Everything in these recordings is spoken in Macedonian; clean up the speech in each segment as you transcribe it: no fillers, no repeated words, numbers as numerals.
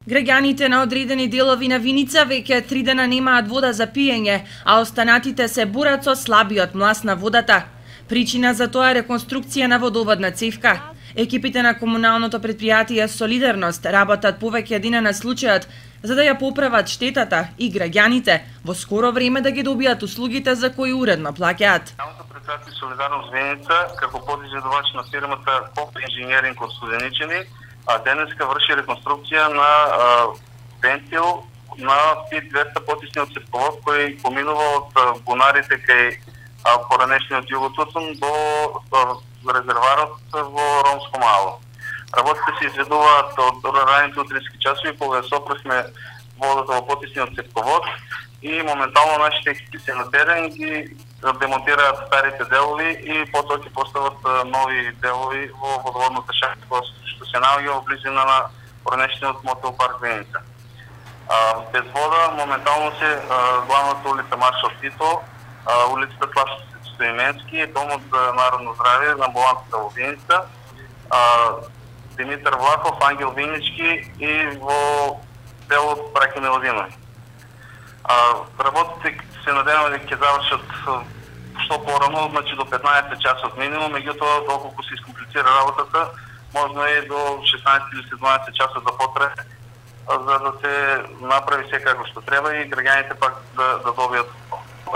Граѓаните на одредени делови на Виница веќе 3 дена немаат вода за пиење, а останатите се борат со слабиот млас на водата. Причина за тоа е реконструкција на водоводна цевка. Екипите на комуналното претпријатие Солидарност работат повеќе дена на случајот за да ја поправат штетата и граѓаните во скоро време да ги добијат услугите за кои уредно плаќаат. Комуналното претпријатие Солидарност Виница, како подизедувач на фирмата КОП Инженеринг од Студеничани, а денеска врши реконструкција на вентил на тип 200 потисниот цевковод кој поминува од бунарите кај поранешниот Југотутун до резерварот во Ромско мало. Работите се изведуваат од раните утрински часови кога сопресме водата во потисниот цевковод и моментално нашите екипи се на терен ги демонтираат старите делови и потоа ќе постават нови делови во водоводната шахта што се наоѓа во близина на поранешниот мотел парк Виница. Без вода моментално се главната улица Маршал Тито, улицата Слав Стоименски, домот за народно здравје, амбулантата во Виница, Димитар Влахов, Ангел Винички и во делот Браќа Милодинови. Работите се надеваме дека ќе завршат што порано, значи до 15 часот минимум, меѓутоа доколку се искомплицира работата, можно е до 16 или 17 часот да потрае, за да се направи секако што треба и граѓаните пак да добијат.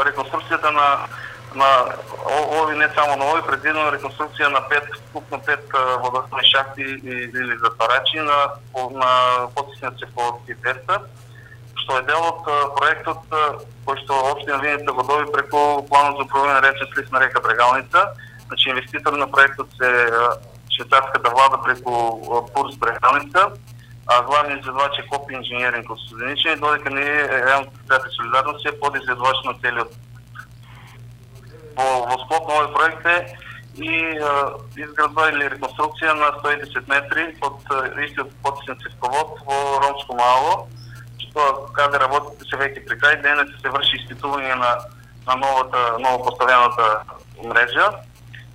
Реконструкцијата на ови, не само на ови, предвидено реконструкција на 5 водоводни шахти или затварачи на потисниот цевковод тип 200, што е дел од проектот кој што општина Виница го доби преку планот за управување на речен слив на река Брегалница. Значи инвеститор на проектот се швајцарската влада преку Пурс Брегалница, а главниот изведувач е КОП Инженеринг од Студеничани, додека ние Комуналното Солидарност е подизведувач на целиот. Во склоп на овој проект е и изградба или реконструкција на 110 метри од истиот потисен цевковод во Ромско мало, што каде работите се веќе при крај, денес се врши испитување на ново поставената мрежа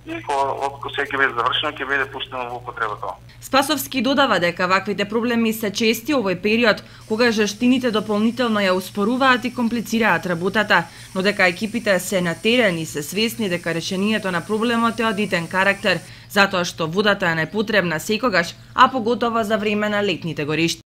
и кога се ќе биде завршено, ќе биде пуштено во употреба тоа. Спасовски додава дека ваквите проблеми се чести овој период, кога жештините дополнително ја успоруваат и комплицираат работата, но дека екипите се на терен и се свесни дека решението на проблемот е од итен карактер, затоа што водата е најпотребна секогаш, а поготово за време на летните горишти.